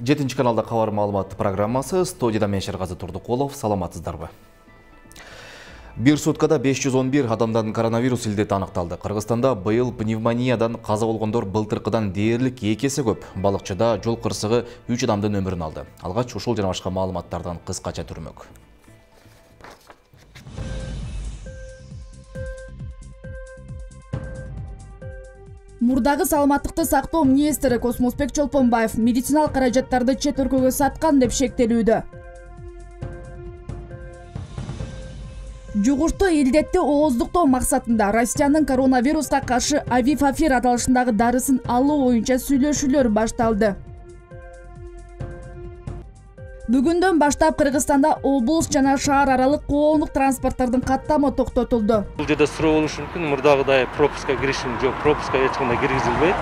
7 каналда кабар маалымат программасы, студияда мен Шергази Турдукулов. Саламатсыздарбы? Бир суткада 511 адамдан коронавирус илдети аныкталды. Кыргызстанда быйыл пневмониядан каза болгондор былтыркыдан дээрлик 2 эсе көп. Балыкчыда жол кырсыгы 3 адамдын өмүрүн алды. Алгач ушул жана башка маалыматтардан кыскача түрмөк. Мурдагы саламаттыкты сактоо министри Космосбек Чолпонбаев медициналык каражаттарды чет өлкөгө саткан деп шектелүүдө. Жугуштуу илдетти ооздуктоо максатында Россиянын коронавируска каршы Авифафир аталышындагы дарысын алуу боюнча сүйлөшүүлөр башталды. Бүгүндөн баштап Кыргызстанда облус жана шаар аралык коомдук транспорттордун каттамы токтотулду. Бул жерде суроо болушу мүмкүн, мурдагыдай пропуска киришим жок, пропуска эч кандай киргизилбейт.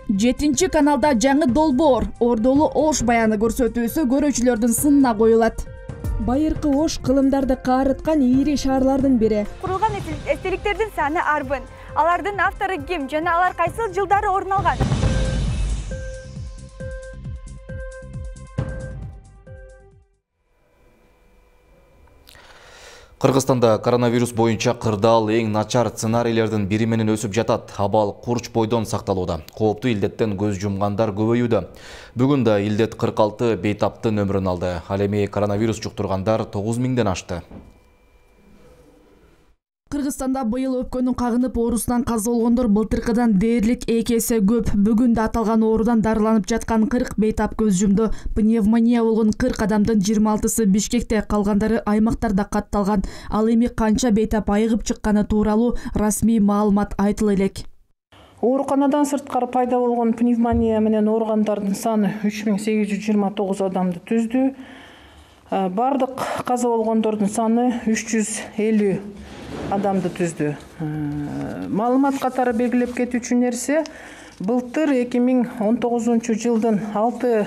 7 каналда жаңы долбоор, Ордолу Ош баяны көрсөтүүсү көрүүчүлөрдүн сынына коюлат. Байыркы Ош кылымдарды каарыткан ири шаарлардын бири. Курулган эстеликтердин саны арбын. Алардын автору ким жана алар кайсыл жылдары орун алган? Кыргызстанда коронавирус боюнча кырдаал эң начар сценарийлердин бири менен өсүп жатат. Абал курч бойдон сакталууда. Кооптуу илдеттен көз жумгандар көбөйүүдө. Бүгүн да илдет 46 бейтаптын өмүрүн алды. Ал эми коронавирус жуктургандар 9000ден ашты. Кыргызстанда быйыл өпкөнүн кагынып оорусунан каза болгондор былтыркыдан дээрлик 2 эсе көп. Бүгүн да аталган оорудан дарыланып жаткан 40 бейтап көз жумду. Пневмония болгон 40 адамдын 26-сы Бишкекте, калгандары аймактарда катталган. Ал эми канча бейтап айыгып чыкканы тууралуу расмий маалымат айтыла элек. Ооруканадан сырткары пайда болгон пневмония менен ооругандардын саны 3829 адамды түздү. Бардык каза болгондордун саны 350 адамды түздү. Маалымат катары белгилеп кетүүчү нерсе, былтыр 2019 жылдын 6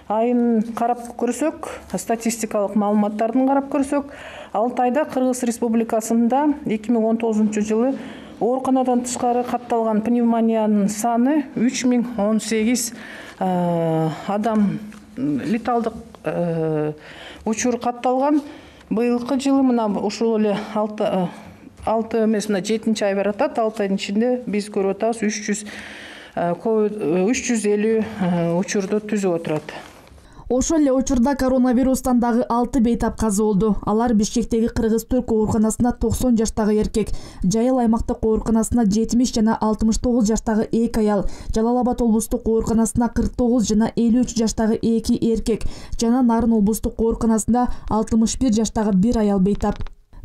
айын карап көрсөк, статистикалык маалыматтардын карап көрсөк, 6 айда Кыргыз Республикасында 2019 жылы ооруканадан тышкары катталган пневмониянын саны 3018 адам леталдык учур катталган. Быйылкы жылы мына ушул эле 6 эмес, мына 7-ай баратат. 6 айдын ичинде биз көрүп атабыз 350 учурду түзүп отурат. Ошол эле учурда коронавирустан дагы 6 бейтап каза болду. Алар Бишкектеги Кыргыз-Түрк ооруканасында 90 жаштагы эркек, Жайыл аймактык ооруканасында 70 жана 69 жаштагы 2 аял, Жалал Абад облустук ооруканасында 49 жана 53 жаштагы 2 эркек жана Нарын облустук ооруканасында 61 жаштагы 1 аял бейтап.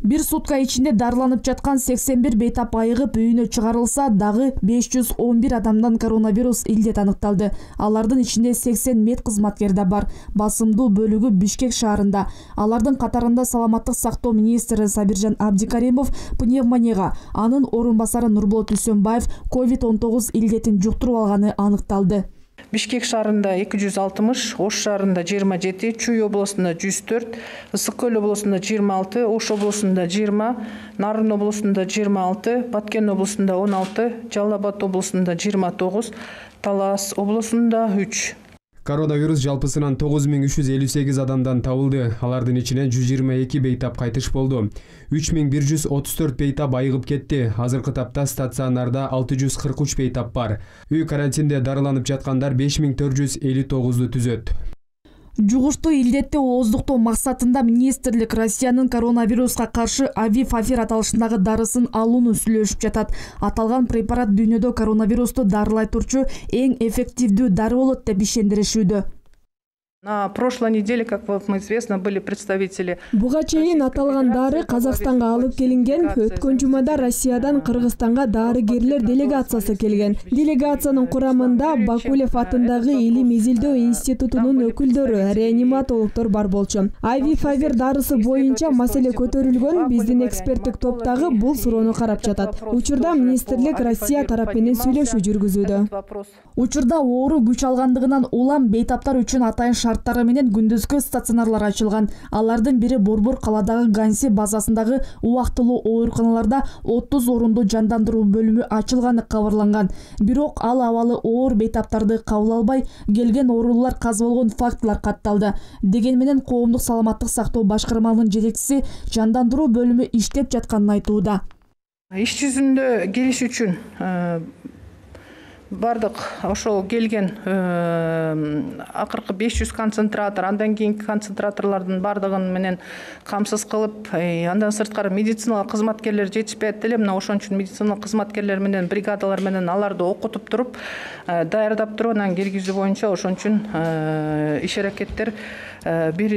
Бир сутка ичинде дарыланып жаткан 81 бейтап айыгып үйүнө чыгарылса, дагы 511 адамдан коронавирус илдет аныкталды. Алардын ичинде 80 медкызматкер да бар. Басымдуу бөлүгү Бишкек шаарында. Алардын катарында саламаттык сактоо министри Сабиржан Абдикаримов пневмонияга, анын орун басары Нурболот Үсөнбаев COVID-19 илдетин жуктуруп алганы аныкталды. Бишкек шаарында 260, Ош шаарында 27, Чүй облусунда 104, Ысык Көл облусунда 26, Ош облусунда 20, Нарын облусунда 26, Баткен облусунда 16, Жалал Абад облусунда 29, Талас облусунда 3. Коронавирус жалпысынан 9358 адамдан табылды. Алардын ичинен 122 бейтап кайтыш болду. 3134 бейтап айыгып кетти. Азыркы тапта стационарда 643 бейтап бар. Үй карантинде дарыланып жаткандар 5459ду түзөт. Жугуштуу илдетти ооздуктоо максатында министрлик Россиянын коронавируска каршы Авифафир аталышындагы дарысын алууну сүйлөшүп жатат. Аталган препарат дүйнөдө коронавирусту дарылай турчу эң эффективдүү дары болот деп ишендиришүүдө. На прошлой неделе, как вам известно, были представители. Буга чейин аталган дары Казакстанга алып келинген. Өткөн жумада Россиядан Кыргызстанга дарыгерлер делегациясы келген. Делегациянын курамында Бакулев атындагы Илим изилдөө институтунун өкүлдөрү, реаниматологдор бар болчу. Авифавир дарысы боюнча маселе көтөрүлгөн. Биздин эксперттик топтагы бул суроону карап жатат. Учурда министрлик Россия тарап менен сүйлөшүү жүргүзүүдө. Учурда оору күч алгандыгынан улам бейтаптар үчүн атайын шарттары менен күндүзгү стационарлар ачылган. Алардын бири Борбор калаадагы Ганси базасындагы убактылуу ооруканаларда 30 орундуу жандандыруу бөлүмү ачылганы кабарланган. Бирок ал абалы оор бейтаптарды кабыл албай, келген оорулуулар каза болгон фактылар катталды. Деген менен коомдук саламаттык сактоо башкармалыгынын жетекчиси жандандыруу бөлүмү иштеп жатканын айтууда. Иш жүзүндө келиш үчүн бардык ошол келген акыркы 500 концентратор, андан кийинки концентраторлордун бардыгын менен камсыз кылып, андан сырткары медициналык кызматкерлер жетишпейт эле. Мына ошон үчүн медициналык кызматкерлер менен, бригадалар менен аларды окутуп туруп, даярдап туруп, анан киргизүү боюнча ошон үчүн иш аракеттер бир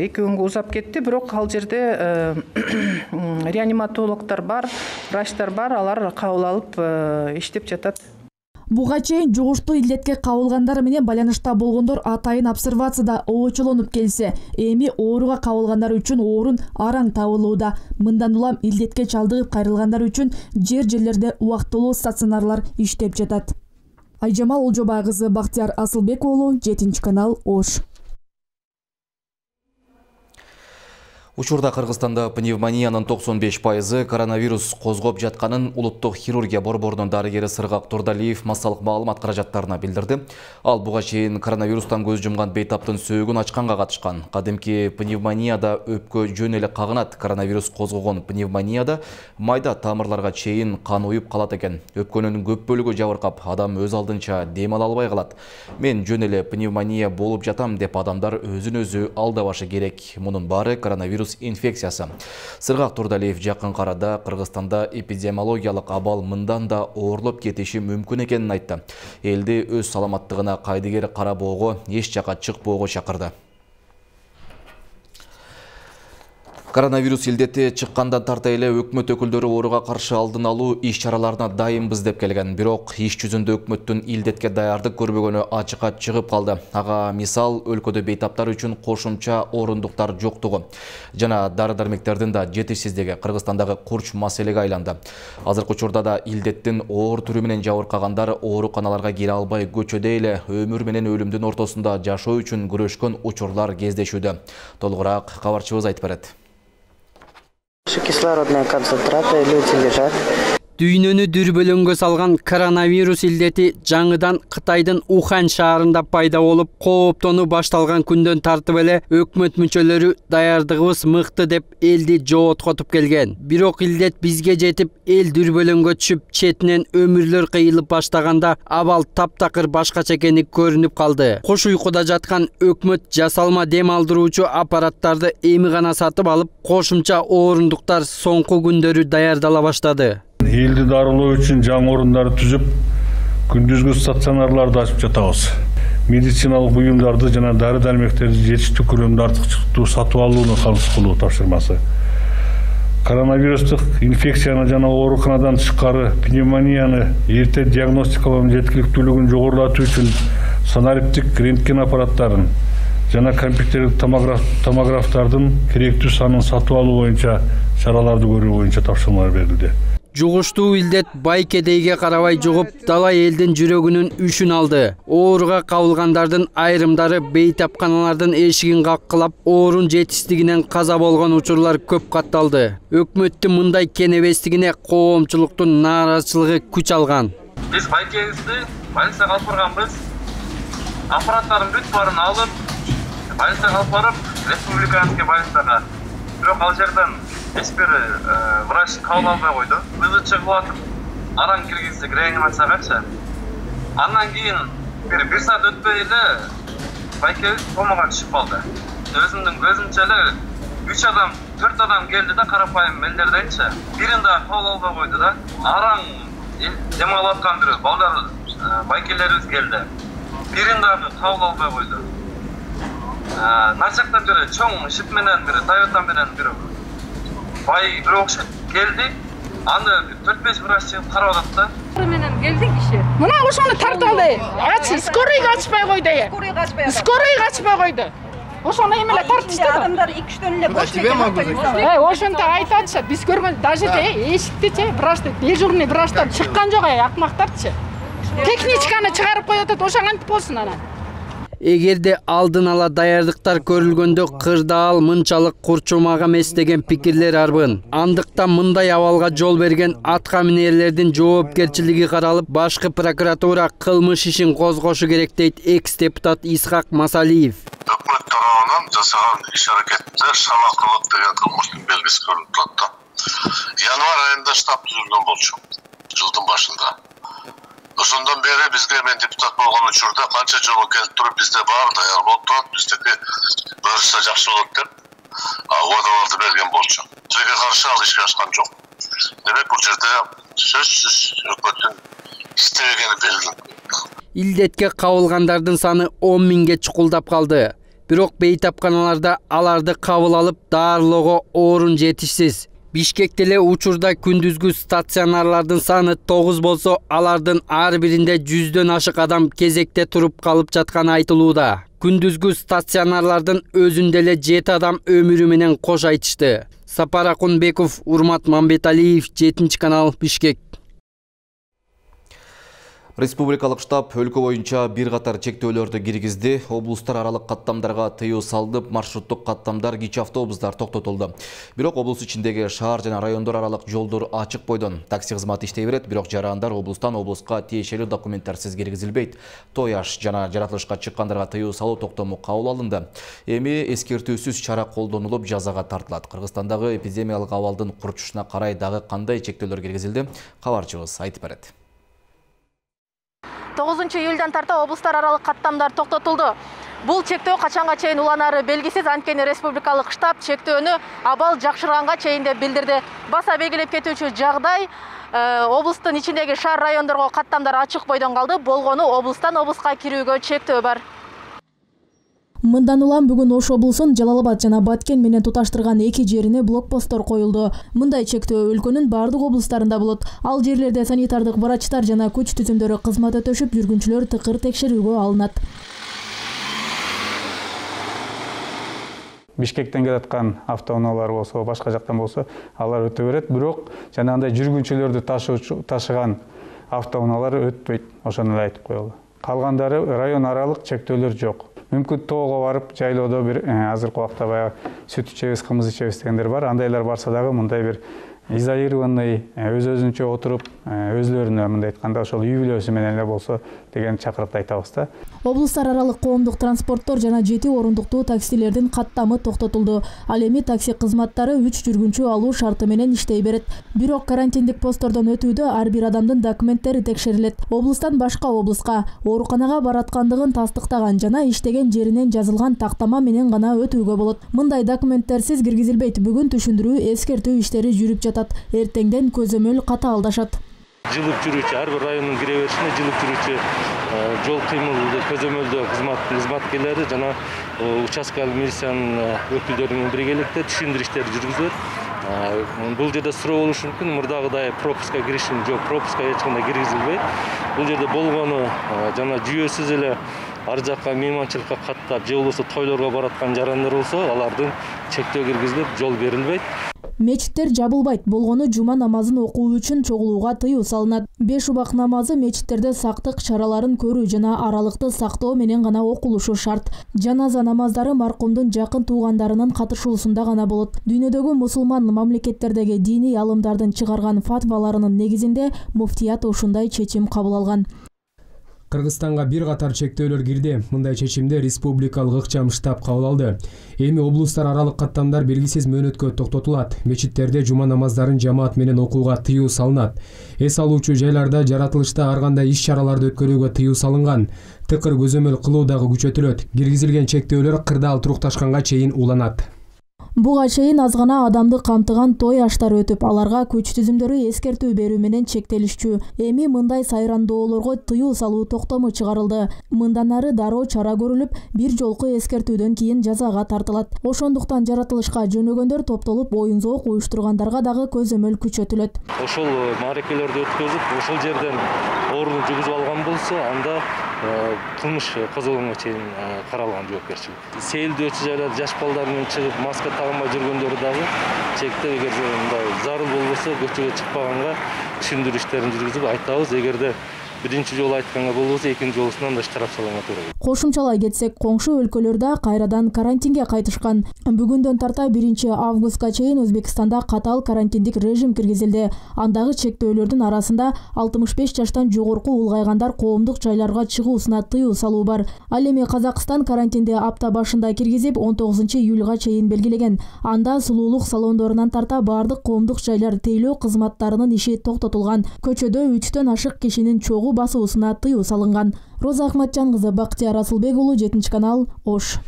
2 күнгө узап кетти. Бирок ал жерде реаниматологдор бар, врачтар бар, алар кабыл алып иштеп жатат. Буга чейин жугуштуу илдетке кабылгандар менен байланышта болгондор атайын обсервацияда обочолонуп келсе, эми ооруга кабылгандар үчүн орун араң табылууда. Мындан улам илдетке чалдыгып кайрылгандар үчүн жерлерде убактылуу стационарлар иштеп жатат. Айжамал Олжобай кызы, Бактияр Асылбек уулу, 7 канал, Ош. Учурда Кыргызстанда пневмониянын 95% коронавирус козгоп жатканын улуттук хирургия борборунун дарыгери Сыргак Турдалиев массалык маалымат каражаттарына билдирди. Ал буга чейин коронавирустан көз жумган бейтаптын сөөгүн ачканга катышкан. Кадимки пневмонияда өпкө жөн эле кагынат. Коронавирус козгогон пневмонияда майда тамырларга чейин кан уюп калат экен. Өпкөнүн көп бөлүгү жабыркап, адам өз алдынча дем ала албай калат. Мен жөн эле пневмония болуп жатам деп адамдар өзүн өзү алдабашы керек. Мунун баары коронавирус инфекциясы. Сыргак Турдалиев жакын арада Кыргызстанда эпидемиологиялык абал мындан да оорлоп кетиши мүмкүн экенин айтты. Элди өз саламаттыгына кайдыгер карабоого, эч жака чыкпоого чакырды. Коронавирус илдети чыккандан тарта эле өкмөт өкүлдөрү ооруга каршы алдын алуу иш чараларына дайынбыз деп келген. Бирок иш жүзүндө өкмөттүн илдетке даярдык көрбөгөнү ачыкка чыгып калды. Ага мисал өлкөдө бейтаптар үчүн кошумча орундуктар жоктугу жана дары-дармектердин да жетишсиздиги Кыргызстандагы курч маселеге айланды. Азыркы учурда да илдеттин оор түрү менен жабыркагандар ооруканаларга кире албай көчөдө эле өмүр менен өлүмдүн ортосунда жашоо үчүн күрөшкөн учурлар кездешүүдө. Толугураак кабарчыбыз айтып берет. Кислородные концентраты, люди лежат. Дүйнөнү дүрбөлөңгө салган коронавирус илдети жаңыдан Кытайдын Ухань шаарында пайда болуп, кооптонуу башталган күндөн тартып эле өкмөт мүчөлөрү даярдыгыбыз мыкты деп элди жооткотуп келген. Бирок илдет бизге жетип, эл дүрбөлөңгө түшүп, четинен өмүрлөр кыйылып баштаганда абал таптакыр башкача экени көрүнүп калды. Кош уйкуда жаткан өкмөт жасалма дем алдыруучу аппараттарды эми гана сатып алып, кошумча орундуктар соңку күндөрү даярдала баштады. Элди дарылоо үчүн жаңы орундарды түзүп, күндүзгү стационарларды ачып жатабыз. Медициналык буюмдарды жана дары-дармектерди жетиштүү көлөмдө артыкчылыктуу сатып алууну камсыз кылуу тапшырмасы. Коронавирустук инфекцияны жана ооруканадан тышкары пневмонияны эрте диагностикалоонун жеткиликтүүлүгүн жогорулатуу үчүн санариптик рентген аппараттарын жана компьютердик томографтардын керектүү санын сатып алуу боюнча чараларды көрүү боюнча тапшырмалар берилди. Жугуштуу илдет бай кедейге карабай жугуп, далай элдин жүрөгүнүн үшүн алды. Ооруга кабылгандардын айрымдары бейтапканалардын эшигин каккылап, оорун жетишсиздигинен каза болгон учурлар көп катталды. Өкмөттүн мындай кенебестигине коомчулуктун нааразычылыгы күч алган. Биз байкебизди больницага алып барганбыз. Аппараттардын бүт баарын алып, больницага алып барып, республиканский больницага. Бирок ал жерден эспер врач кабыл албай койду. Мыйзы чыгылатып, араң киргиздик реанимациягачы. Андан кийин бир саат өтпөй эле байкебиз комага түшүп калды. Өзүмдүн көзүмчө эле 4 адам келди да, карапайым мелдерди айтчы. Бирин да кабыл албай койду да. Араң дем алып аткан бир балдар байкелерибиз келди. Бирин да кабыл албай койду. Начактан бери чоң шип менен бир Toyota менен бир бай бир окшо келди. Аны 4-5 врач чыгып карап атат да. Менен келди киши. Мына ошону тартып алды. Скорыйга ачпай койду. Скорыйга ачпай койду. Ошону эмеле тартышты. Адамдар 2-3төн эле бош экен. Ошонто айтатчы, биз көргөн даже эшиктичи врачты, дежурный врачтар чыккан жок, акмактарчы. Техничканы чыгарып коюп атат, ошо кантип болсун анан. Эгерде алдын ала даярдыктар көрүлгөндө кырдаал мынчалык курчумак эмес деген пикирлер арбын. Андыктан мындай абалга жол берген атка минерлердин жоопкерчилиги каралып, башкы прокуратура кылмыш ишин козгошу керек дейт экс-депутат Исхак Масалиев. Өкмөт тарабынан жасаган иш-аракетте шалакылык деген кылмыштын белгиси көрүнүп турат. Январь айында штаб түзүлгөн болчу, жылдын башында. Ошондон бери бизге, мен депутат болгон учурда канча жолу келип туруп, бизде бар даяр болуп турат, биздики көрүлсө жакшы болот деп убадаларды берген болчу. Тилекке каршы ал ишке ашкан жок. Демек бул жерде сөзсүз өкмөттүн иштебегени белгилүү. Илдетке кабылгандардын саны 10 миңге чукулдап калды. Бирок бейтапканаларда аларды кабыл алып, даарылоого орун жетишсиз. Бишкекте эле учурда күндүзгү стационарлардын саны 9 болсо, алардын ар биринде 100дөн ашык адам кезекте туруп калып жатканы айтылууда. Күндүзгү стационарлардын өзүндө эле 7 адам өмүрү менен кош айтышты. Сапар Акунбеков, Урмат Мамбеталиев, 7-канал, Бишкек. Республикалык штаб өлкө боюнча бир катар чектөөлөрдү киргизди. Облустар аралык каттамдарга тыюу салынып, маршруттук каттамдар, кичи автобустар токтотулду. Бирок облус ичиндеги шаар жана райондор аралык жолдор ачык бойдон. Такси кызматы иштей берет, бирок жарандар облустан облуска тиешелүү документтерсиз киргизилбейт. Той аш жана жаратылышка чыккандарга тыюу салуу токтому кабыл алынды. Эми эскертүүсүз чара колдонулуп, жазага тартылат. Кыргызстандагы эпидемиялык абалдын курчушуна карай дагы кандай чектөөлөр киргизилди? Кабарчыбыз айтып берет. 9-июлдан тарта облустар аралык каттамдар токтотулду. Бул чектөө качанга чейин уланары белгисиз, анткени республикалык штаб чектөөнү абал жакшырганга чейин деп билдирди. Баса белгилеп кетүүчү жагдай, облустун ичиндеги шаар райондорго каттамдар ачык бойдон калды. Болгону облустан облуска кирүүгө чектөө бар. Мындан улам бүгүн Ош облусун Жалал-Абад жана Баткен менен туташтырган 2 жерине блокпосттор коюлду. Мындай чектөө өлкөнүн бардык облустарында болот. Ал жерлерде санитардык врачтар жана күч түзүмдөрү кызмат өтөшүп, жүргүнчүлөр тыкыр текшерүүгө алынат. Бишкектен келаткан автоунаалар болсо, башка жактан болсо, алар өтө берет. Бирок жанагындай жүргүнчүлөрдү ташыган автоунаалар өтпөйт. Ошону эле айтып коелу. Калгандары район аралык чектөөлөр жок. Мүмкүн тоого барып, жайлоодо бир азыркы убакта баягы сүт ичебиз, кымыз ичебиз дегендер бар. Андайлар барса дагы мындай бир изолированный, өз-өзүнчө отуруп, өзлөрүнө мындай айтканда ошол үй бүлөсү менен эле болсо деген чакырыкты айтабыз да. Облустар аралык коомдук транспорттор жана 7 орундуктуу таксилердин каттамы токтотулду. Ал эми такси кызматтары 3 жүргүнчү алуу шарты менен иштей берет. Бирок карантиндик посттордон өтүүдө ар бир адамдын документтери текшерилет. Облустан башка облуска ооруканага бараткандыгын тастыктаган жана иштеген жеринен жазылган тактама менен гана өтүүгө болот. Мындай документтерсиз киргизилбейт. Бүгүн түшүндүрүү, эскертүү иштери жүрүп жатат. Эртеңден көзөмөл катаалдашат. Жылып жүрүүчү ар бир райондун кире беришине жылып жүрүүчү жол кыймыл көзөмөлдөө кызматкерлери жана участкалык милициянын өкүлдөрү менен биргеликте түшүндүрүү иштери жүргүзүлөт. Бул жерде суроо болушу мүмкүн, мурдагыдай пропуска киришим жок, пропуска эч кандай киргизилбейт. Бул жерде болгону жана жүйөсүз эле ар жакка мейманчылыкка каттап, же болбосо тойлорго бараткан жарандар болсо, алардын чектөө киргизилип, жол берилбейт. Мечиттер жабылбайт. Болгону жума намазын окуу үчүн чогулууга тыюу салынат. 5 убак намазы мечиттерде сактык чараларын көрүү жана аралыкты сактоо менен гана окулушу шарт. Жаназа намаздары маркумдун жакын туугандарынын катышуусунда гана болот. Дүйнөдөгү мусулман мамлекеттердеги диний алымдардын чыгарган фатваларынын негизинде муфтият ушундай чечим кабыл алган. Кыргызстанга бир катар чектөөлөр кирди. Мындай чечимди республикалык ыкчам штаб кабыл алды. Эми облустар аралык каттамдар белгисиз мөөнөткө токтотулат. Мечиттерде жума намаздарын жамаат менен окууга тыюу салынат. Эс алуучу жайларда жаратылышта ар кандай иш-чараларды өткөрүүгө тыюу салынган. Тыкыр көзөмөл кылуу дагы күчөтүлөт. Киргизилген чектөөлөр кырдаал турукташканга чейин уланат. Буга чейин аз гана адамды камтыган той аштар өтүп, аларга күч түзүмдөрү эскертүү берүү менен чектелишчү. Эми мындай сайрандоолорго тыюу салуу токтому чыгарылды. Мындан ары дароо чара көрүлүп, бир жолку эскертүүдөн кийин жазага тартылат. Ошондуктан жаратылышка жөнөгөндөр топтолуп, оюн-зоок уюштургандарга дагы көзөмөл күчөтүлөт. Ошол маарекелерди өткөзүп, ошол жерден орун жугузуп алган болсо, анда кылмыш козголгонго чейин каралган жоопкерчилик. Сейилдөөчү жайлар жаш балдар менен чыгып маска тагынбай жүргөндөрү дагы чектеп, эгерде мындай зарыл болбосо көчөгө чыкпаганга түшүндүрүү иштерин жүргүзүп айтабыз. Эгерде биринчи жолу айтканга болбосо экинчи жолусунан да штраф салганга туура келет. Кошумчалай кетсек, коңшу өлкөлөр да кайрадан карантинге кайтышкан. Бүгүндөн тарта 1 августка чейин Өзбекстанда катаал карантиндик режим киргизилди. Андагы чектөөлөрдүн арасында 65 жаштан жогорку улгайгандар коомдук жайларга чыгуусуна тыюу салуу бар. Ал эми Казакстан карантинди апта башында киргизип, 19 июлга чейин белгилеген. Анда сулуулук салондорунан тарта бардык коомдук жайлар тейлөө кызматтарынын иши токтотулган. Көчөдө 3төн ашык кишинин чогуу басуусуна тыюу салынган. Роза Ахматжан кызы, Бактияр Асылбекулу, 7 канал, Ош.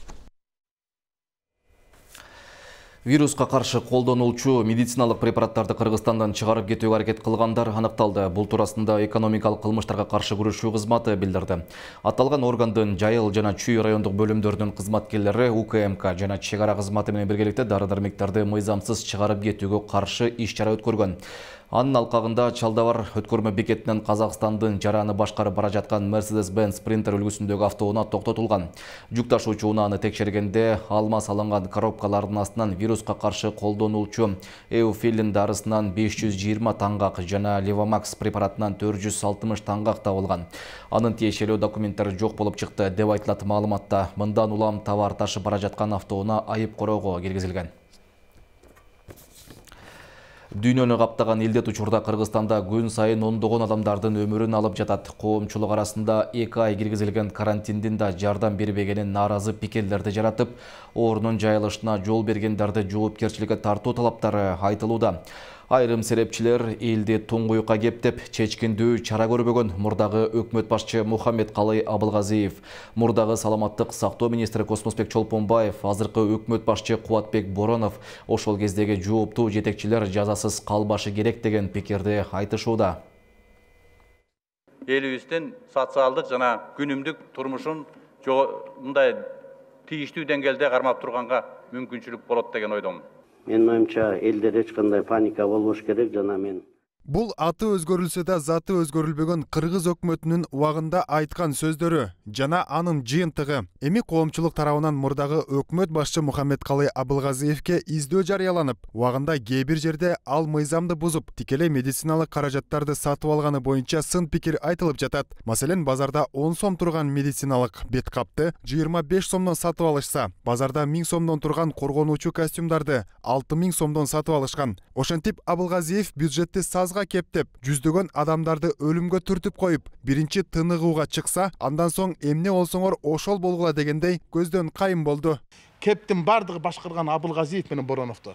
Вируска каршы колдонулчу медициналык препараттарды Кыргызстандан чыгарып кетүүгө аракет кылгандар аныкталды. Бул туурасында экономикалык кылмыштарга каршы күрөшүү кызматы билдирди. Аталган органдын Жайыл жана Чүй райондук бөлүмдөрүнүн кызматкерлери УКМК жана чек ара кызматы менен биргеликте дары-дармектарды мыйзамсыз чыгарып кетүүгө каршы иш-чара өткөргөн. Анын алкагында Чалдабар өткөрмө бекетинен Казакстандын жараны башкарып бара жаткан Mercedes-Benz Sprinter үлгүсүндөгү автоунаа токтотулган. Жүк ташуучу унааны текшергенде алма салынган коробкалардын астынан вируска каршы колдонулчу Эуфилин дарысынан 520 таңгак жана Levamax препаратынан 460 таңгак табылган. Анын тиешелүү документтери жок болуп чыкты деп айтылат маалыматта. Мындан улам товар ташып бара жаткан автоунаа айып короого киргизилген. Дүйнөнү каптаган илдет учурда Кыргызстанда күн сайын ондогон адамдардын өмүрүн алып жатат. Коомчулук арасында 2 ай киргизилген карантиндин да жардам бербегенин нааразы пикирлерди жаратып, орунун жайылышына жол бергендерди жоопкерчиликке тартуу талаптары айтылууда. Айрым серепчилер элди туңгуюкка кептеп, чечкиндүү чара көрбөгөн мурдагы өкмөт башчы Мухаммедкалый Абылгазиев, мурдагы саламаттык сактоо министри Космосбек Чолпонбаев, азыркы өкмөт башчы Кубатбек Боронов ошол кездеги жооптуу жетекчилер жазасыз калбашы керек деген пикирди айтышууда. Элибиздин социалдык жана күнүмдүк турмушун мындай тийиштүү деңгээлде кармап турганга мүмкүнчүлүк болот деген ойдомун. Менин оюмча элдер эч кандай паника болбош керек жана мен Бул аты өзгөрүлсө да заты өзгөрүлбөгөн кыргыз өкмөтүнүн убагында айткан сөздөрү жана анын жыйынтыгы. Эми коомчулук тарабынан мурдагы өкмөт башчы Мухаммедкалый Абылгазиевке издөө жарыяланып, убагында кээ бир жерде ал мыйзамды бузуп, тикелей медициналык каражаттарды сатып алганы боюнча сын пикир айтылып жатат. Маселен, базарда 10 сом турган медициналык бет капты 25 сомдон сатып алышса, базарда 1000 сомдон турган коргонуучу костюмдарды 6000 сомдон сатып алышкан. Ошентип Абылгазиев бюджетти сазга кептеп, жүздөгөн адамдарды өлүмгө түртүп коюп, биринчи тыныгууга чыкса, андан соң эмне болсоңор ошол болгула дегендей көздөн кайым болду. Кептин бардыгы башкарган Абылгазиев менен Бороновду.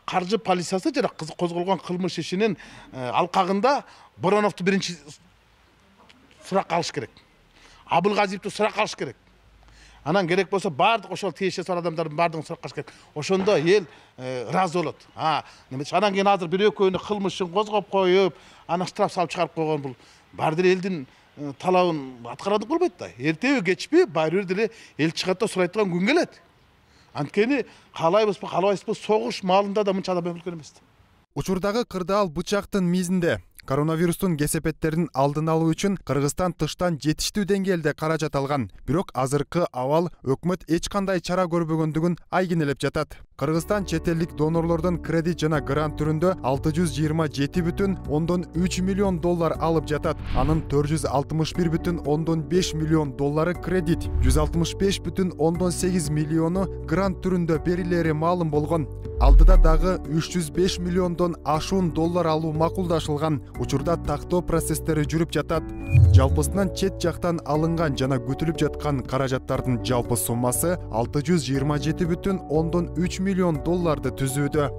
Каржы полициясы жана козголгон кылмыш ишинин алкагында Бороновду биринчи суракка алыш керек. Абылгазиевди суракка алыш керек. Анан керек болсо бардык ошол тиешеси бар адамдардын бардыгын суракка алыш керек. Ошондо эл ыраазы болот. Анан кийин азыр бир экөөнү кылмышын козгоп коюп, анан штраф салып чыгарып койгон бул баары деле элдин талабын аткарады болбойт да. Эртеби кечпи баары бир деле эл чыгат да сурайт турган күн келет. Анткени каалайбызбы, каалабайсызбы, согуш маалында да мынча адам өлгөн эмес. Учурдагы кырдаал бычактын мизинде коронавирустун кесепеттерин алдын алуу үчүн Кыргызстан тыштан жетиштүү деңгээлде каражат алган. Бирок азыркы абал өкмөт эч кандай чара көрбөгөндүгүн айгинелеп жатат. Кыргызстан чет элдик донорлордон кредит жана грант түрүндө 627,3 миллион доллар алып жатат. Анын 461,5 миллион доллары кредит, 165,8 миллиону грант түрүндө берилери маалым болгон. Алдыда дагы 305 миллиондон ашуун доллар алуу макулдашылган. Учурда тактоо процесстери жүрүп жатат. Жалпысынан чет жактан алынган жана күтүлүп жаткан каражаттардын жалпы суммасы 627,3 миллион долларды түзүүдө.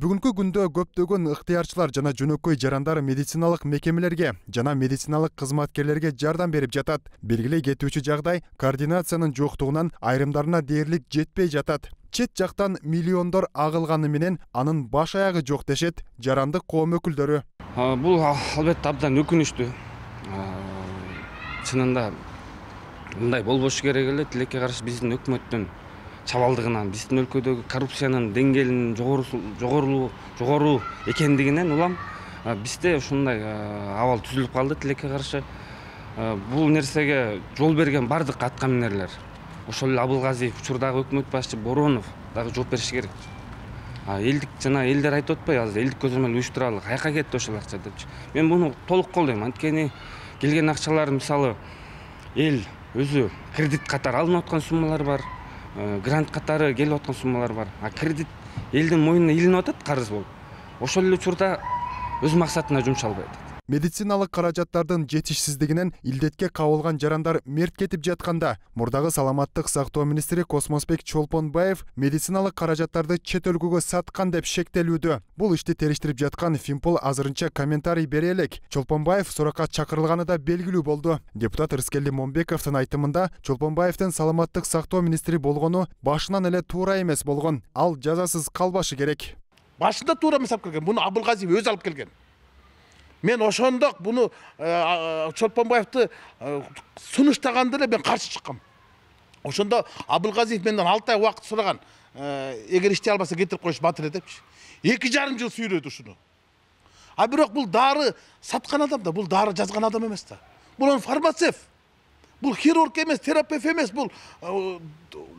Бүгүнкү күндө көптөгөн ыктыярчылар жана жөнөкөй жарандар медициналык мекемелерге жана медициналык кызматкерлерге жардам берип жатат. Белгилей кетүүчү жагдай координациянын жоктугунан айрымдарына дээрлик жетпей жатат. Чет жактан миллиондор агылганы менен анын баш аягы жок дешет жарандык коом өкүлдөрү. Бул албетте абдан өкүнүчтүү. Чынында мындай болбошу керек эле. Тилекке каршы биздин өкмөттүн чабалдыгынан, биздин өлкөдөгү коррупциянын деңгээлинин жогору экендигинен улам бизде ушундай абал түзүлүп калды. Тилекке каршы бул нерсеге жол берген бардык аткаминерлер, ошол эле Абылгазиев, учурдагы өкмөт башчы Боронов дагы жооп бериши керек. Элдик жана элдер айтып атпайбы, азыр элдик көзөмөл уюштуралы, каяка кетти ошол акча депчи. Мен муну толук колдойм. Анткени келген акчалар мисалы эл өзү кредит катары алынып аткан суммалар бар, грант катары келип аткан суммалар бар. А кредит элдин мойнуна илинип атат карыз болуп. Ошол эле учурда өз максатына жумшалбай атат. Медициналык каражаттардын жетишсиздигинен илдетке кабылган жарандар мерт кетип жатканда, мурдагы саламаттык сактоо министри Космосбек Чолпонбаев медициналык каражаттарды чет өлкөгө саткан деп шектелүүдө. Бул ишти териштирип жаткан Финпол азырынча комментарий бере элек. Чолпонбаев суракка чакырылганы да белгилүү болду. Депутат Рыскелди Момбековдун айтымында Чолпонбаевдин саламаттык сактоо министри болгону башынан эле туура эмес болгон. Ал жазасыз калбашы керек. Башында туура эмес алып келген. Буну Абылгазиев өзү алып келген. Мен ошондок буну Чолпонбаевди сунуштаганда эле мен каршы чыккам. Ошондо Абылгазиев менден 6 ай убакыт сураган. Эгер иштей албаса кетирип коюш батыр депчи. 2,5 жыл сүйрөдү ушуну. А бирок бул дары саткан адам да, бул дары жазган адам эмес да. Бул фармацевт. Бул хирург эмес, терапевт эмес, бул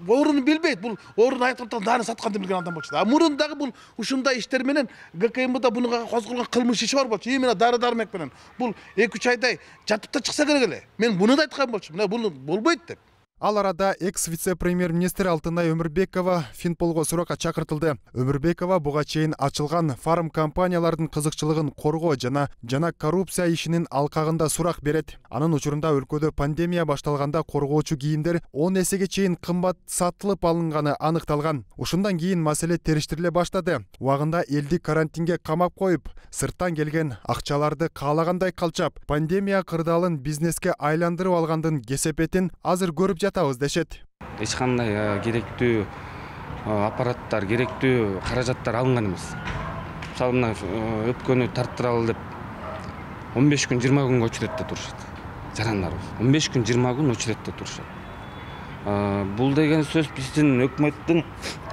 орун билбейт, бул орун айтып дарын саткан деп билген адам болчу. А мурындагы бул ушундай иштер менен ГКМБда буга козголгон кылмыш иши бар болчу. Именно дары-дармек менен. Бул 2-3 айдай жатып да чыкса керек эле. Мен буну да айткан болчу. Мына бул болбойт деп. Ал арада экс-вице-премьер-министр Алтынай Өмүрбекова Финполго суракка чакыртылды. Өмүрбекова буга чейин ачылган фарм компаниялардын кызыкчылыгын коргоо жана коррупция ишинин алкагында сурак берет. Анын учурунда өлкөдө пандемия башталганда коргоочу кийимдер 10 эсеге чейин кымбат сатылып алынганы аныкталган. Ушундан кийин маселе териштириле баштады. Убагында элди карантинге камап коюп, сырттан келген акчаларды каалагандай калчап, пандемия кырдаалын бизнеске айландырып алгандын кесепетин азыр көрүп жатабыз дешет. Эч кандай керектүү аппараттар, керектүү каражаттар алынган эмес. Мисалы мына өпкөнү тарттыралы деп 15 күн 20 күнгө очередте турушат. Жарандарыбыз 15 күн 20 күн очередте турушат. Бул деген сөз биздин өкмөттүн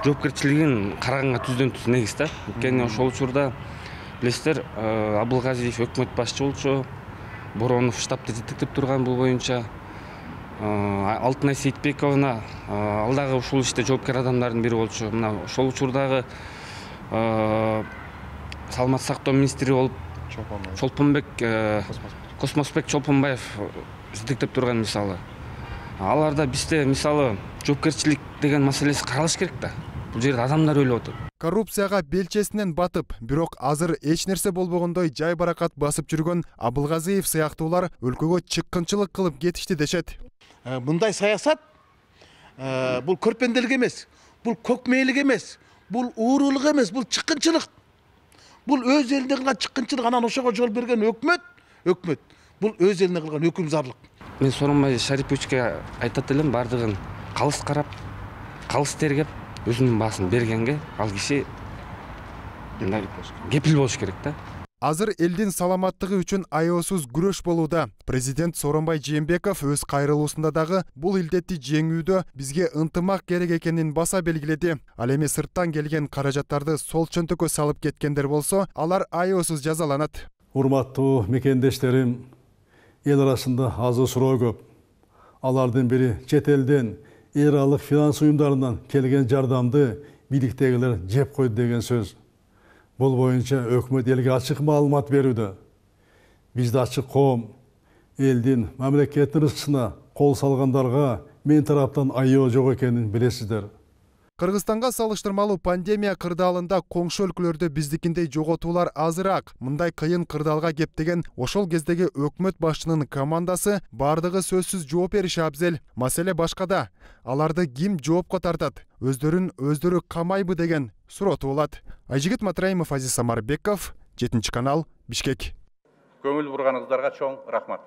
жоопкерчилигин караганга түздөн-түз негиз да. Анткени ошол учурда билесиздер, Абылгазиев өкмөт башчы болчу, Боронов штабты жетектеп турган бул боюнча. Алтынай Сейитбековна ал дагы ушул иште жоопкер адамдардын бири болчу. Мына ошол учурдагы саламаттык сактоо министри болуп Космосбек Чолпонбаев жетектеп турган мисалы. Аларда бизде мисалы жоопкерчилик деген маселеси каралыш керек да. Бул жерде адамдар өлүп атат. Коррупцияга белчесинен батып, бирок азыр эч нерсе болбогондой жай баракат басып жүргөн Абылгазиев сыяктуулар өлкөгө чыккынчылык кылып кетишти дешет. Мындай саясат бул көрпенделик эмес, бул көкмейлик эмес, бул уурулук эмес, бул чыккынчылык. Бул өз элине кылган чыккынчылык, анан ошого жол берген өкмөт. Бул өз элине кылган өкүмзарлык. Мен Сооронбай Шариповичке айтат элем, бардыгын калыс карап, калыс тергеп, өзүнүн баасын бергенге ал киши кепил болуш керек да. Азыр элдин саламаттыгы үчүн аеосуз күрөш болууда. Президент Сооронбай Жээнбеков өз кайрылуусунда дагы бул илдетти жеңүүдө бизге ынтымак керек экенин баса белгиледи. Ал эми сырттан келген каражаттарды сол чөнтөккө салып кеткендер болсо, алар аеосуз жазаланат. Урматтуу мекендештерим, эл арасында азы суроо көп. Алардын бири чет элден эл аралык финанс уюмдарынан келген жардамды бийликтегилер жеп койду деген сөз. Бул боюнча өкмөт элге ачык маалымат берүүдө. Бизде ачык коом, элдин мамлекеттин рызкысына кол салгандарга мен тараптан айоо жок экенин билесиздер. Кыргызстанга салыштырмалуу пандемия кырдаалында коңшу өлкөлөрдө биздикиндей жоготуулар азыраак. Мындай кыйын кырдаалга кептеген ошол кездеги өкмөт башчынын командасы бардыгы сөзсүз жооп бериши абзел. Маселе башкада. Аларды ким жоопко тартат? Өздөрү камайбы деген суроо туулат. Айжигит Матраимов, Азиз Самарбеков, 7 канал, Бишкек. Көңүл бурганыңыздарга чоң рахмат.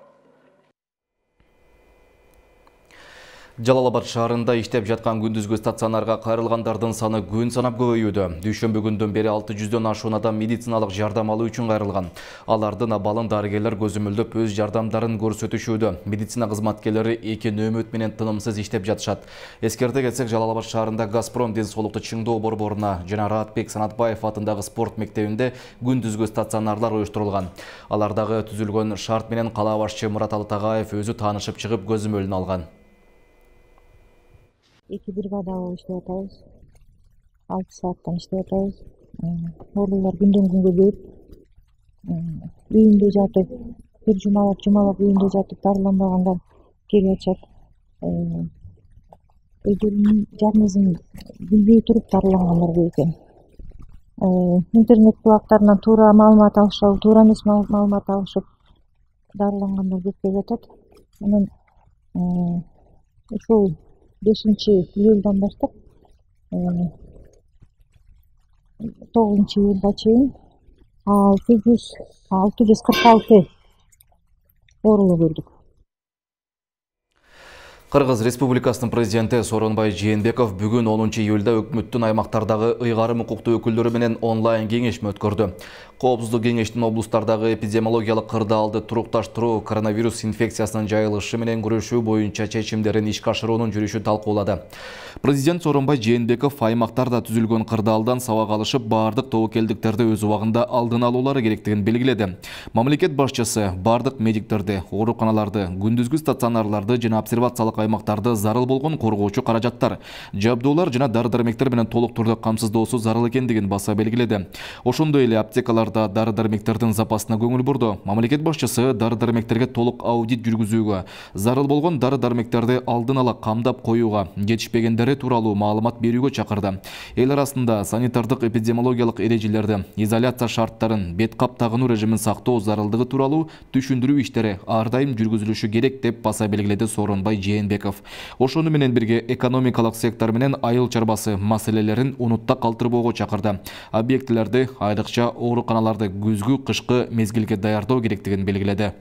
Жалал-Абад шаарында иштеп жаткан күндүзгү стационарга кайрылгандардын саны күн санап көбөйүүдө. Дүйшөмбү күндөн бери 600дөн ашуун адам медициналык жардам алуу үчүн кайрылган. Алардын абалын дарыгерлер көзөмөлдөп өз жардамдарын көрсөтүшүүдө. Медицина кызматкерлери 2 нөөмөт менен тынымсыз иштеп жатышат. Эскерте кетсек, Жалал-Абад шаарында Газпром ден соолукту чыңдоо борборуна жана Раатбек Санатбаев атындагы спорт мектебинде күндүзгү стационарлар уюштурулган. Алардагы түзүлгөн шарт менен кала башчы Мурат Тагаев өзү таанышып чыгып көзөмөлүн алган. 2 бригада иштеп атабыз. 6 сааттан иштеп атабыз. Оорулар күндөн күнгө көбөйүп, үйүндө жатып бир жумалап үйүндө жатып дарыланбагандар кирип ачат. Өздөрүнүн диагнозун билбей туруп дарылангандар көп экен. Интернет булактарынан туура маалымат алышып, туура эмес маалымат алышып дарылангандар көп келип атат. Анан ушул 5-июлдан баштап 9-июлга чейин 646 оорулуу көрдүк. Кыргыз Республикасынын президенти Сооронбай Жээнбеков бүгүн 10-июлда өкмөттүн аймактардагы ыйгарым укуктуу өкүлдөрү менен онлайн кеңешме өткөрдү. Коопсуздук кеңештин облустардагы эпидемиологиялык кырдаалды турукташтыруу, коронавирус инфекциясынын жайылышы менен күрөшүү боюнча чечимдерин ишке ашыруунун жүрүшүн талкуулады. Президент Сооронбай Жээнбеков аймактарда түзүлгөн кырдаалдан сабак алышып, бардык тобокелдиктерди өз убагында алдын алуулары керектигин белгиледи. Мамлекет башчысы бардык медиктерди, ооруканаларды, күндүзгү стационарларды жана обсервациялык аймактарды зарыл болгон коргоочу каражаттар, жабдуулар жана дары-дармектер менен толук түрдө камсыздоосу зарыл экендигин баса белгиледи. Ошондой эле аптекаларда дары-дармектердин запасына көңүл бурду. Мамлекет башчысы дары-дармектерге толук аудит жүргүзүүгө, зарыл болгон дары-дармектерди алдын ала камдап коюуга, жетишпегендери тууралуу маалымат берүүгө чакырды. Эл арасында санитардык эпидемиологиялык эрежелерди, изоляция шарттарын, бет кап тагынуу режимин сактоо зарылдыгы тууралуу түшүндүрүү иштери ар дайым жүргүзүлүшү керек деп баса белгиледи Сооронбай Жээнбеков. Ошону менен бирге экономикалык сектор менен айыл чарбасы маселелерин унутта калтырбоого чакырды. Объектилерди, айрыкча ооруканаларды күзгү, кышкы мезгилге даярдоо керектигин белгиледи.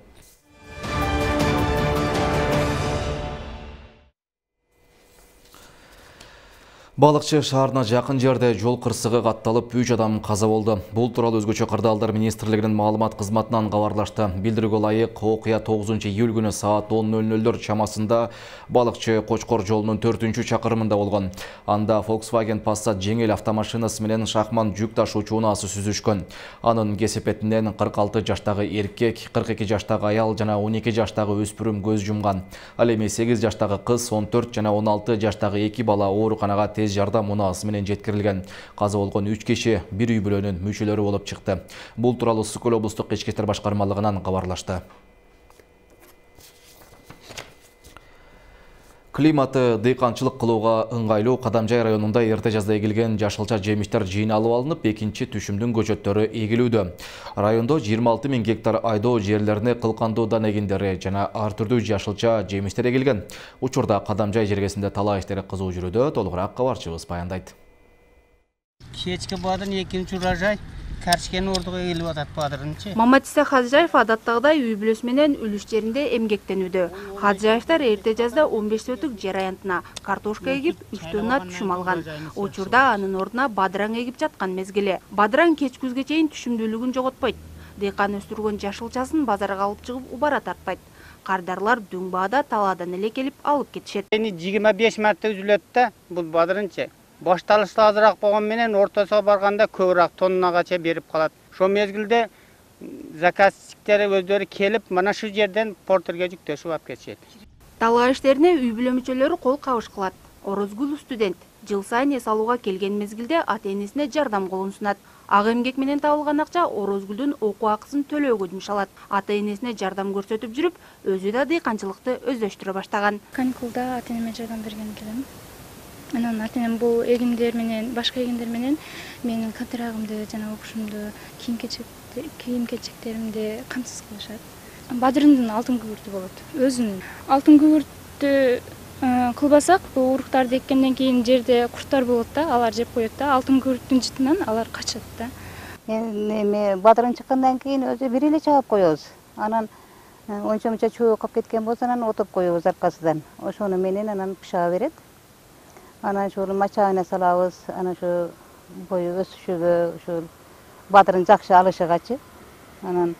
Балыкчы шаарына жакын жерде жол кырсыгы катталып 3 адам каза болду. Бул тууралуу өзгөчө кырдаалдар министрлигинин маалымат кызматынан кабарлашты. Билдирүүгө ылайык, окуя 9-июль күнү саат 10:00 чамасында Балыкчы Кочкор жолунун 4-чакырымында болгон. Анда Volkswagen Passat жеңил автомашинасы менен шахман жүк ташуучу унаасы сүзүшкөн. Анын кесепетинен 46 жаштагы эркек, 42 жаштагы аял жана 12 жаштагы өспүрүм көз жумган. Ал эми 8 жаштагы кыз, 14 жана 16 жаштагы 2 бала ооруканага тез жардам унаасы менен жеткирилген. Каза болгон 3 киши бир үй бүлөнүн мүчөлөрү болуп чыкты. Бул тууралуу Ысык Көл облустук ички иштер башкармалыгынан кабарлашты. Климаты дыйканчылык кылууга ыңгайлуу Кадамжай районунда эрте жазда эгилген жашылча жемиштер жыйналып алынып, экинчи түшүмдүн көчөттөрү эгилүүдө. Райондо 26 000 гектар айдоо жерлерине кылкандуу дан эгиндери жана ар түрдүү жашылча жемиштер эгилген. Учурда Кадамжай жергесинде талаа иштери кызуу жүрүүдө, толугураак кабарчыбыз баяндайт. Кечки бадырын экинчи урожай Каршкен ордуга эгилип атат бадырынчы. Маматиса Хаджаев адаттагыдай үй бүлөсү менен үлүштеринде эмгектенүүдө. Хаджаевтар эрте жазда 15 сотук жер аянтына картошка эгип, 3 тонна түшүм алган. Учурда анын ордуна бадыраң эгип жаткан мезгили. Бадыраң кеч күзгө чейин түшүмдүүлүгүн жоготпойт. Дыйкан өстүргөн жашылчасын базарга алып чыгып убара тартпайт. Кардарлар дүң баада талаадан эле келип алып кетишет. 25 марта үзүлөт да бул бадырынчы. Башталышты азыраак болгон менен ортосуга барганда көбүрөөк тоннагача берип калат. Ошол мезгилде заказчиктер өздөрү келип, мына шу жерден портерге жүктөшүп алып кетишет. Талаа иштерине үй бүлө мүчөлөрү кол кабыш кылат. Орозгул студент жыл сайын эс алууга келген мезгилде ата-энесине жардам колун сунат. Ак эмгек менен табылган акча Орозгулдун окуу акысын төлөөгө жумшалат. Ата-энесине жардам көрсөтүп жүрүп, өзү да дыйканчылыкты өздөштүрө баштаган. Каникулда ата-энеме жардам берген келем. Анан ата-энем бул эгиндер менен, башка эгиндер менен менин катырагымды жана окушумду, кийим-кечектеримди камсыз кылышат. Бадырымдын алтын күбүртү болот. Өзүнүн алтын күбүртү кылбасак, бул уруктарды эккенден кийин жерде курттар болот да, алар жеп коет да, алтын күбүрттүн жытынан алар качат да. Эми бадырын чыккандан кийин өзү бир эле чаап коебуз. Анан ончо-мунча чуу калып кеткен болсо анан отуп коебуз аркасынан. Ошону менен анан пышаа берет. Анан ошол мачагына салабыз, анан ошо бою өсүшүгө, ошол бадырын жакшы алышыгачы. Анан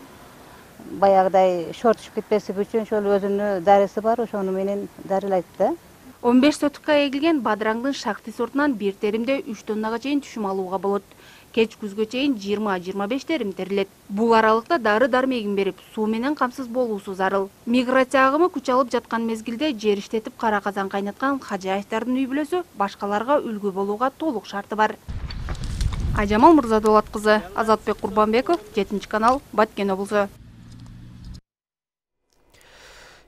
баягыдай шортушуп кетпеси үчүн ошол өзүнүн дарысы бар, ошону менен дарылайт да. 15 сотукка эгилген бадыраңдын шахти сортунан бир теримде 3 тоннага чейин түшүм алууга болот. Кеч күзгө чейин 20-25 терим терилет. Бул аралыкта дары-дармегин берип, суу менен камсыз болуусу зарыл. Миграция агымы күч алып жаткан мезгилде жер иштетип кара казан кайнаткан Хаджаевдардын үй бүлөсү башкаларга үлгү болууга толук шарты бар. Айжамал Мырзадолат кызы, Азатбек Курбанбеков, 7 канал, Баткен облусу.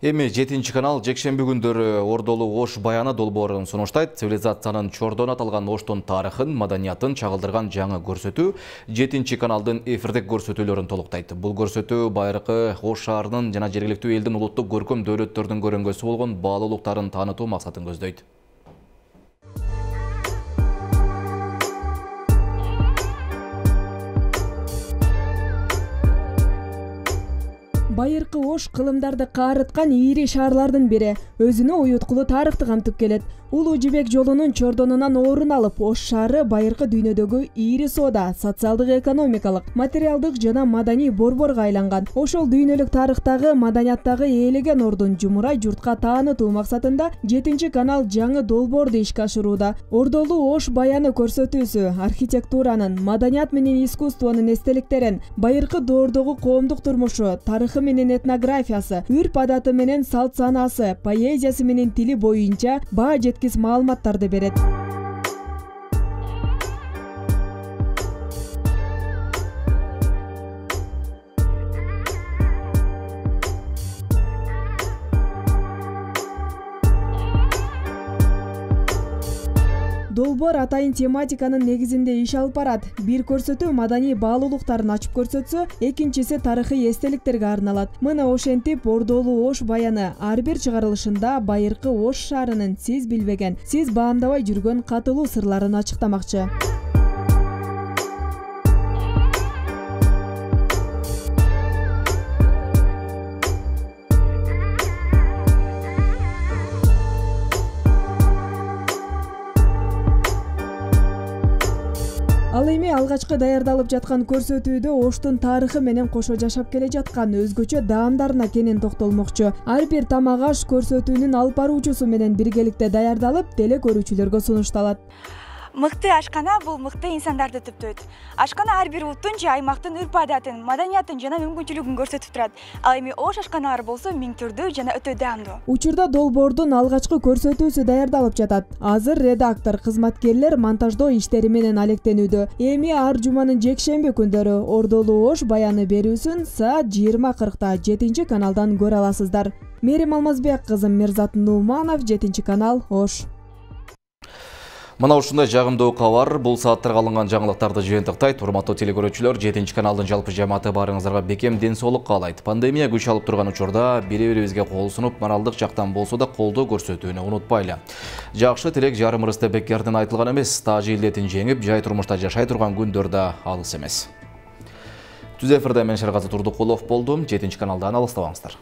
Эми 7 канал жекшемби күндөрү Ордолу Ош баяны долбоорун сунуштайт. Цивилизациянын чордон аталган Оштун тарыхын, маданиятын чагылдырган жаңы көрсөтүү 7 каналдын эфирдик көрсөтүүлөрүн толуктайт. Бул көрсөтүү байыркы Ош шаарынын жана жергиликтүү элдин улуттук көркөм дөөлөттөрдүн көрөнгөсү болгон баалуулуктарын таанытуу максатын көздөйт. Байыркы Ош кылымдарды каарыткан ийри шаарлардын бири, өзүнө уюткулуу тарыхты камтып келет. Улуу Жибек жолунун чордонунан орун алып, Ош шаары байыркы дүйнөдөгү ийри соода, социалдык, экономикалык, материалдык жана маданий борборго айланган. Ошол дүйнөлүк тарыхтагы, маданияттагы ээлеген ордун жумурай журтка таанытуу максатында 7 канал жаңы долбоорду ишке ашырууда. Ордолу Ош баяны көрсөтүүсү архитектуранын, маданият менен искусствонун эстеликтерин, байыркы доордогу коомдук турмушу, тарыхы менен этнографиясы, үрп адаты менен салт санаасы, поэзиясы менен тили боюнча баа жеткис маалыматтарды берет. Долбоор атайын тематиканын негизинде иш алып барат. Бир көрсөтүү маданий баалуулуктарын ачып көрсөтсө, экинчиси тарыхый эстеликтерге арналат. Мына ошентип Ордолу Ош баяны ар бир чыгарылышында байыркы Ош шаарынын сиз билбеген, сиз баамдабай жүргөн катылуу сырларын ачыктамакчы. Ал эми алгачкы даярдалып жаткан көрсөтүүдө Оштун тарыхы менен кошо жашап келе жаткан өзгөчө даамдарына кенен токтолмокчу. Ар бир тамак аш көрсөтүүнүн алып баруучусу менен биргеликте даярдалып, теле көрүүчүлөргө сунушталат. Мыкты ашкана бул мыкты инсандарды түптөйт. Ашкана ар бир улуттун же аймактын үрп адатын, маданиятын жана мүмкүнчүлүгүн көрсөтүп турат. Ал эми Ош ашканалары болсо миң түрдүү жана өтө даамдуу. Учурда долбоордун алгачкы көрсөтүүсү даярдалып жатат. Азыр редактор, кызматкерлер монтаждоо иштери менен алектенүүдө. Эми ар жуманын жекшемби күндөрү Ордолу Ош баяны берүүсүн саат 20:40 7 каналдан көрө аласыздар. Мерим Алмазбек кызым, Мирзат Нуманов, 7 канал, Ош. Мына ушундай жагымдуу кабар бул сааттарга алынган жаңылыктарды жыйынтыктайт. Урматтуу телекөрүүчүлөр, 7 каналдын жалпы жамааты баарыңыздарга бекем ден соолук каалайт. Пандемия күч алып турган учурда бири-бирибизге кол сунуп, моралдык жактан болсо да колдоо көрсөтүүнү унутпайлы. Жакшы тилек жарым ырысты бекерден айтылган эмес, тажы илдетин жеңип, жай турмушта жашай турган күндөр да алыс эмес. Түз эфирде мен Шергазы Турдукулов болдум. 7 каналдан алыстабаңыздар.